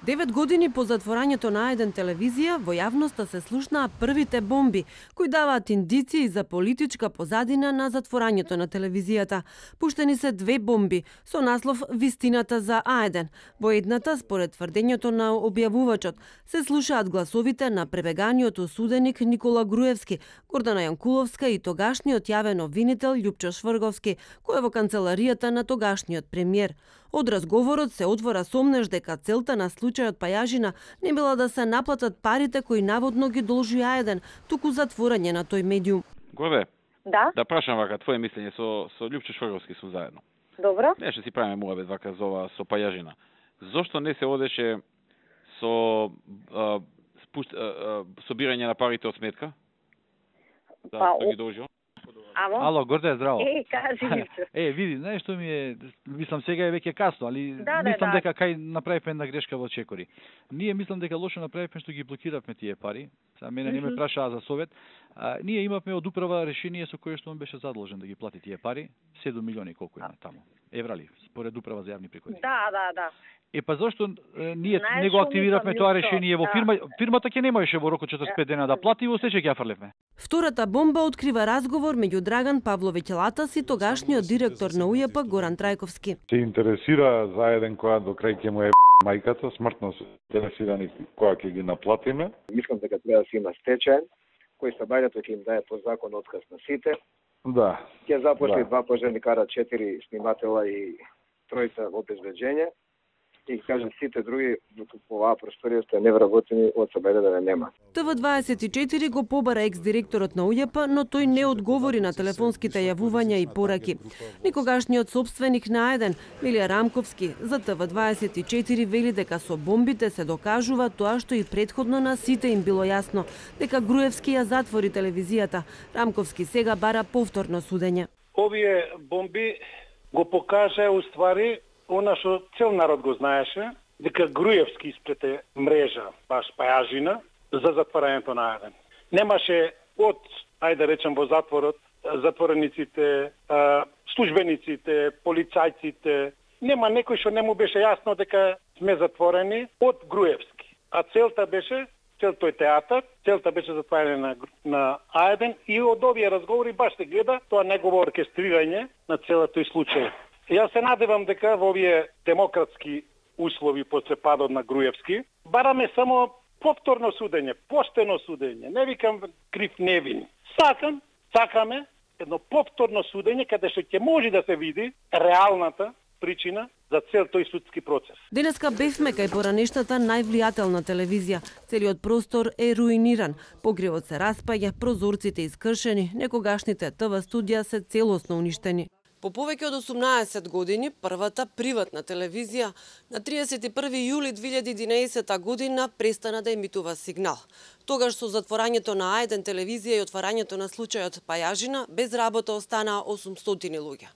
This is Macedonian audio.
9 години по затворањето на А1 телевизија, во јавноста се слушнаа првите бомби, кои даваат индиции за политичка позадина на затворањето на телевизијата. Пуштени се 2 бомби со наслов "Вистината за А1". Во едната, според тврдењето на објавувачот, се слушаат гласовите на пребеганиот осуденик Никола Груевски, Гордана Јанкуловска и тогашниот јавен обвинител Љупчо Шврговски, кој е во канцеларијата на тогашниот премиер. Од разговорот се отвора сомнеж дека целта на случајот Пајажина не била да се наплатат парите кои наводно ги должи А1, туку затворање на тој медиум. Горе. Да? Да прашам вака твое мислење со Љупчо Шврговски сум заедно. Добро. Не, што си правиме муабет вака со Пајажина. Зошто не се одеше со собирање на парите од сметка? Да ги должи он? Ало, Горде, здраво. Кажи ми се. Види, знаеш што ми е, мислам сега е веќе касно, али мислам дека кај направивме една грешка во Чекори. Ние мислам дека лошо направивме што ги блокиравме тие пари. Сега мене не ме прашаа за совет. Ние имавме од управа решение со кое што он беше задолжен да ги плати тие пари, 7 милиони колку има таму. Еврали, според управа за јавни приходи. Да. Па зошто ние не го активиравме тоа решение во фирмата ќе немаше во рокот 45 дена да плати и во сече ќе ја фрлевме. Втората бомба открива разговор меѓу Драган Павловиќ Латас и тогашниот директор на УЈП Горан Трајковски. Се интересира за еден која до крај ќе му е мајката, смртно се интересирани која ќе ги наплатиме. Мислам дека треба да се има стечај, кој Сабајдето ќе им даде по закон отказ на сите. Да. Ќе запошли 2 пожарникара, 4 сниматела и 3 обезбеđење. И кажам сите други по оваа просторијата не вработени од Сабајде да нема. ТВ24 го побара екс-директорот на УЈП, но тој не одговори на телефонските јавувања и пораки. Никогашниот собственик на А1, Милија Рамковски, за ТВ24 вели дека со бомбите се докажува тоа што и претходно на сите им било јасно, дека Груевски ја затвори телевизијата. Рамковски сега бара повторно судење. Овие бомби го покажа уствари она што цел народ го знаеше, дека Груевски испрете мрежа, баш Пајажина, за затворањето на А1. Немаше од, ајде да речем во затворот, затворениците, службениците, полицајците, нема некој што не му беше јасно дека сме затворени од Груевски. А целта беше, тој театар, целта беше затворање на А1 и од овие разговори баш се гледа тоа негово оркестрирање на целиот тој случај. Јас се надевам дека во овие демократски услови после падот на Груевски бараме само повторно судење, поштено судење. Не викам крив невин. Сакаме едно повторно судење каде што ќе може да се види реалната причина за цел тој судски процес. Денеска бевме кај поранешната највлијателна телевизија. Целиот простор е руиниран. Погревот се распаѓа, прозорците искршени, некогашните ТВ студија се целосно уништени. По повеќе од 18 години, првата приватна телевизија на 31 јули 2011 година престана да емитува сигнал. Тогаш со затворањето на А1 телевизија и отварањето на случајот Пајажина, без работа останаа 800 луѓе.